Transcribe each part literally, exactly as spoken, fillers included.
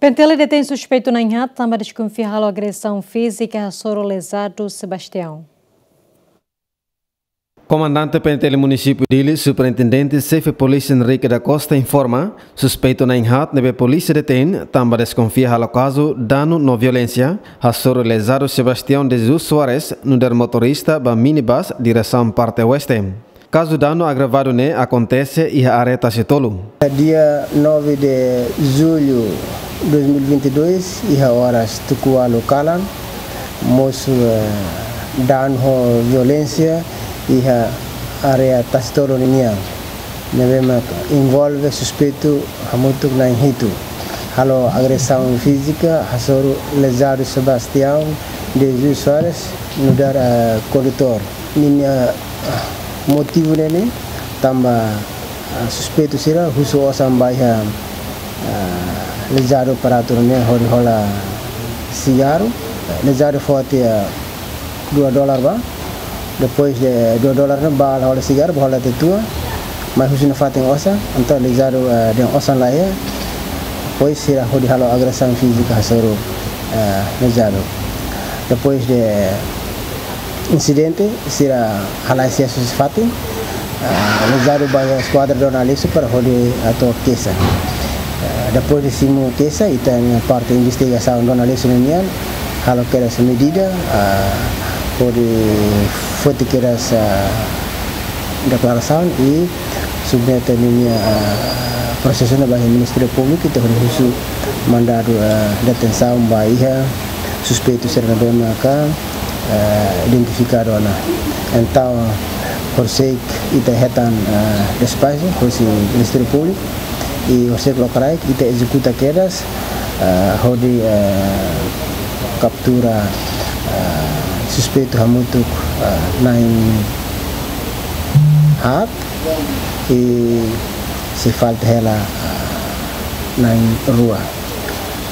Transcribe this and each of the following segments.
PNTL detein suspeitu na'in-haat tanba deskonfia halo agresaun fízika hasoru lezadu Sebastião. Komandante PNTL Munisípiu Dili, Superintendente Xefe Polísia Henrique da Costa informa, suspeitu na'in-haat ne'ebé polísia detein tanba deskonfia halo kazu danu no violénsia hasoru lezadu Sebastião de Jesus Soares, nu'udar motorista ba minibus diresaun parte oeste. Kazu danu agravadu ne'e akontese iha área Tasitolu. Dia nove de julho dois mil e vinte e dois, iha oras tuku ualu kalan, mosu, eh, danu ho violénsia iha área Tasitolu ninian. Ne'ebé mak envolve suspeitu hamutuk na'in-hitu. Halo agresaun fízika hasoru lezadu Sebastião de Jesus Soares, nu'udar, eh, kondutór. Ninia, ah, motivu ne'e ne'e tanba, ah, suspeitu sira husu osan ba iha, ah, lezadu operator ne'e hodi hola sigarru. Lezadu foti, ah, dua dolar ba. Depois de dua dolar ne'e bá hola sigarru, bá hola tiha tua. Mai husu nafatin osan, entaun lezadu, ah, dehan osan la iha. Depois sira hodi halo agresaun fízika hasoru, ah, lezadu. Depois de insidente, sira halai sesu husi fatin, ah, lezadu ba iha eskuadra Dona Aleixo para hodi hato'o keixa. Ah, depois de simu keixa, ita-nia parte investigasaun Dona Aleixo ninian halo kedas medida, ah, hodi foti kedas, ah, deklarasaun i submete ninia, ah, prosesu ne'e ba iha Ministériu Públiku, ita hodi husu mandadu, ah, detensaun ba iha suspeitu sira ne'ebé maka, ah, identifikadu ona. Entaun, horisehik ita hetan, ah, despaxu husi Ministériu Públiku, i horisehik lokraik ita ezekuta kedas, ah, hodi, ah, kaptura, ah, suspeitu hamutuk, ah, na'in-haat, i sei falta hela, ah, na'in-rua.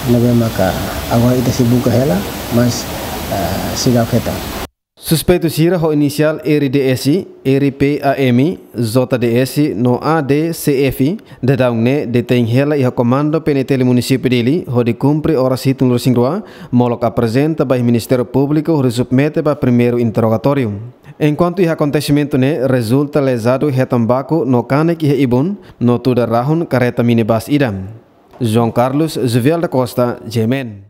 Ne'ebé maka agora ita sei buka hela, mas, ah, seidauk hetan. Suspeitu sira ho inisiál R D S, R P A M, J D S no A D C F, daudaun ne'e detein hela iha Komandu PNTL Munisípiu Dili, hodi kumpre oras hitunulu-resin-rua, molok aprezenta ba iha Ministériu Públiku hodi submete ba primeiru interrogatóriu. Enkuantu iha akontesimentu ne'e rezulta lezadu hetan baku no kanek iha ibun, no tuda rahun karreta minibus ida. João Carlos Juvial da Costa, G M N.